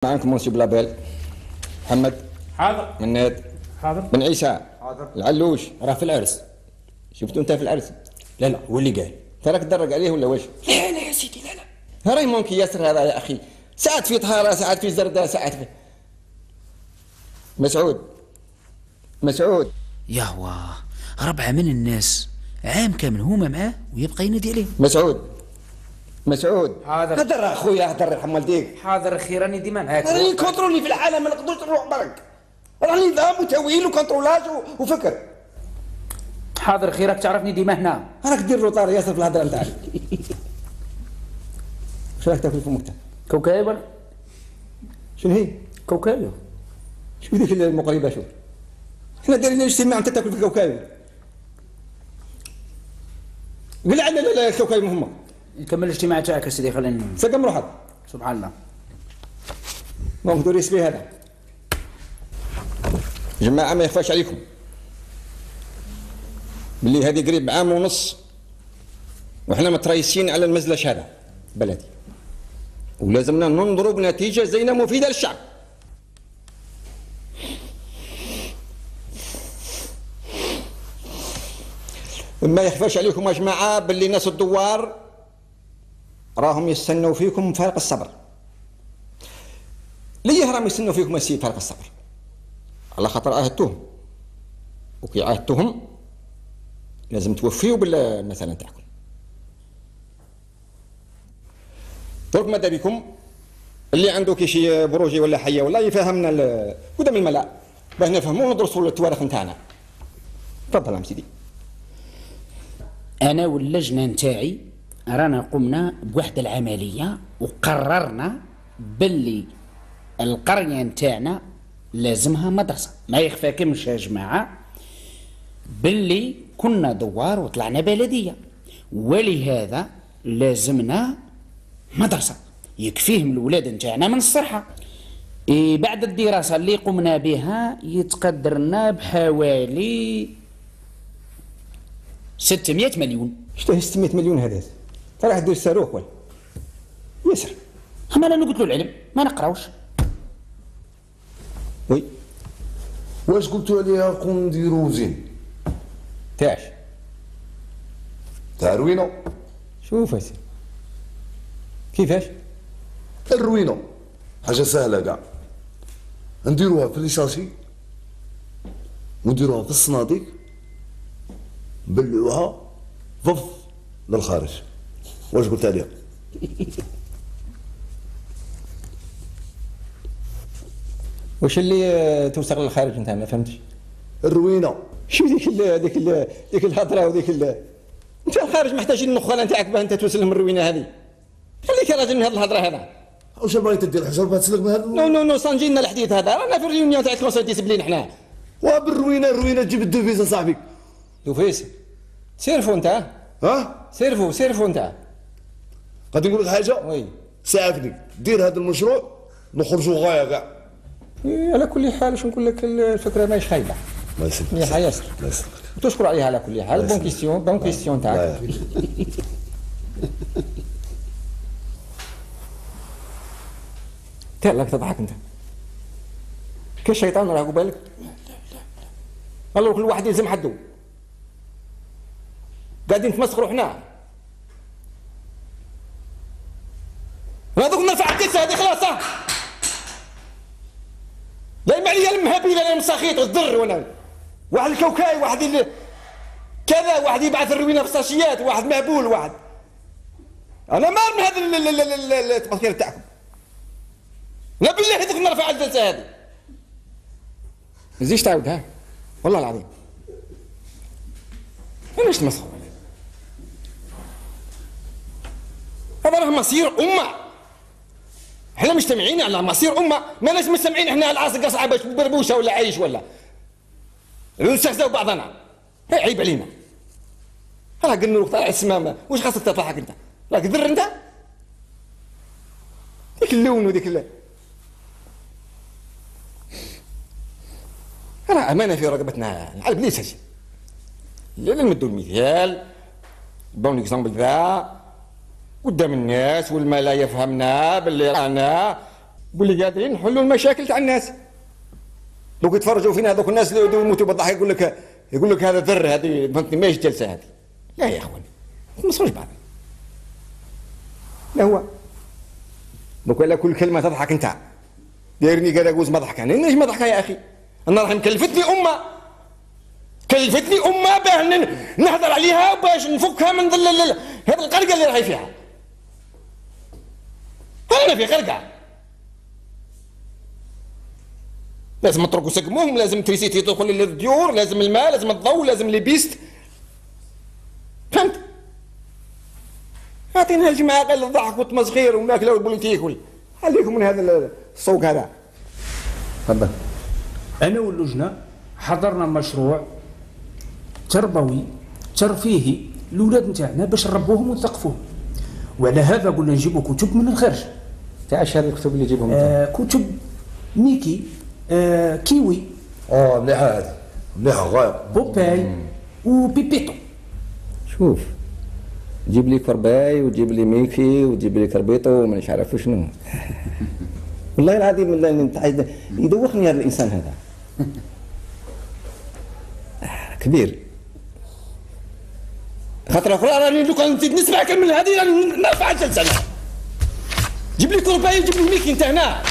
معكم منصب لابيل محمد حاضر. مناد حاضر. بن عيسى حاضر. العلوش راه في العرس. شفتوا انت في العرس؟ لا هو اللي قال. تراك تدرج عليه ولا واش؟ لا يا سيدي لا. راهي ممكن ياسر هذا يا اخي، ساعات في طهاره ساعات في زردة ساعات في مسعود يهوى 4 من الناس عام كامل هما معاه ويبقى ينادي عليه. مسعود حاضر. هدر اخويا هدر يرحم والديك. حاضر اخي راني ديما معاك. راني كونترولي في العالم ما نقدرش نروح برك، راني نظام وتويل وكونترولاج وفكر. حاضر اخي راك تعرفني ديما هنا. راك دير روطار ياسر في الهضره نتاعك. واش راك تاكل فمك انت؟ كوكاية ولا شنو هي؟ كوكاية؟ شوف ذيك المقربه شوف. احنا دايرين اجتماع انت تاكل في الكوكاية. قل عنا لا الكوكاية مهمه. نكمل الاجتماع تاعك يا سيدي خلينا سقم روحك. سبحان الله. دونك دوري سبي هذا. جماعه ما يخفاش عليكم باللي هذه قريب عام ونص وحنا متريسين على المزلش هذا بلدي، ولازمنا ننظروا بنتيجه زينه مفيده للشعب. ما يخفاش عليكم يا جماعه باللي ناس الدوار راهم يستنوا فيكم فارق الصبر. ليه راهم يستنوا فيكم السيد فارق الصبر؟ على خاطر عاهدتوهم، وكي عاهدتوهم لازم توفيوا بالمثل نتاعكم. درك ماذا بكم اللي عنده كي شي بروجي ولا حيه ولا يفهمنا قدام الملا باه نفهموا وندرسوا التواريخ نتاعنا. تفضل يا سيدي. انا واللجنه نتاعي رانا قمنا بواحد العمليه وقررنا باللي القريه نتاعنا لازمها مدرسه. ما يخفاكمش يا جماعه باللي كنا دوار وطلعنا بلديه، ولهذا لازمنا مدرسه يكفيهم الولاد نتاعنا من الصحه. بعد الدراسه اللي قمنا بها يتقدرنا بحوالي 600 مليون. شتاه 600 مليون هذا؟ راح دير الصاروخ ولا ياسر؟ اما انا قلت له العلم ما نقراوش. وي واش قلتوا عليها قوم نديرو زين تاعش تاع الروينه؟ شوف اسي كيفاش؟ الروينه حاجه سهله كاع، نديروها في ليشاشي ونديروها في الصناديق نبلعوها فف للخارج. واش قلت عليها؟ واش اللي توصل للخارج انت ما فهمتش؟ الروينه. شو ديك الهضره وديك انت الخارج محتاجين النخاله نتاعك باه انت توصل لهم الروينه هذه. خليك يا راجل من هذه الهضره هذا. واش بغيت دير الحجر باه تسلك من هذا؟ نو صنجي لنا الحديث هذا، رانا في الريونيون تاع الكونسيل ديسبلين حنا. الروينه تجيب الدوفيز صاحبي. دوفيس سيرفو انت. ها؟ سيرفو انت. غادي نقول لك حاجه؟ وي ساعدني دير هذا المشروع نخرجوا غايه كاع. على كل حال شو نقول لك الفكره ماهيش خايبه. الله يسلمك. يا ياسر الله يسلمك. تشكر عليها على كل حال. بون كيستيون تاعك. راك تضحك انت كالشيطان راه بالك. الله كل واحد يلزم حده. قاعدين نتمسخروا حنا. هذوك نرفع الدسه هذه خلاص. لا يم عليا المهابيل انا المساخيط والضر وانا واحد الكوكاي واحد كذا واحد يبعث الروينه في الساشيات واحد مهبول واحد. انا مار من هذا التفكير تاعكم. لا بالله هذوك نرفع الجلسه هذه. ما تزيدش تعاود ها والله العظيم. علاش تمسخر؟ هذا راه مصير امه. احنا مجتمعين على مصير امه، ما لازم مجتمعين احنا على العاصقه صعبه بربوشه ولا عايش ولا نستهزئوا بعضنا. عيب علينا. راه قلنا له طالع السمامه واش خاصك تضحك انت؟ راك ذر انت؟ ديك اللون وديك راه امانه في رقبتنا على بليس هادشي. لا نمدوا المثال بون اكزومبل ذا قدام الناس والما لا يفهمنا باللي رانا واللي قادرين نحلوا المشاكل تاع الناس. دوك يتفرجوا فينا هذوك الناس اللي يموتوا بالضحك يقول لك هذا ذر، هذه فهمتني ماهيش جلسه هذه. لا يا اخواني ما نصروش بعض. لا هو دوك على كل كلمه تضحك انت دايرني قال اجوز ما ضحك، انا ليش ما ضحك يا اخي؟ انا راح كلفتني امه باه نهضر عليها باش نفكها من هذا القرقه اللي راهي فيها. انا في قرقه لازم نتركوا سقموهم، لازم تريسيتي تدخل للديور، لازم الماء، لازم الضوء، لازم لي بيست. فهمت؟ اعطينا الجماعه قال الضحك والتمسخير والماكله والبوليتيك خليكم من هذا الصوق هذا. تفضل. انا واللجنه حضرنا مشروع تربوي ترفيهي الاولاد نتاعنا باش نربوهم ونثقفوهم، وعلى هذا قلنا نجيبوا كتب من الخارج. تاع اش هذه الكتب اللي يجيبهم؟ كتب ميكي، كيوي، مليحه هذه، مليحه غايه، بوباي وبيبيتو. شوف جيب لي كرباي وجيب لي ميكي وجيب لي كربيطو ومانيش عارف شنو. والله العظيم يدوخني هذا الانسان هذا. كبير. خاطر اخرى راني لو كان نزيد نسمع كمل هذه راني نرفع الجلسه. جيب لي كرباي وجيب لي ميكي انت هنا.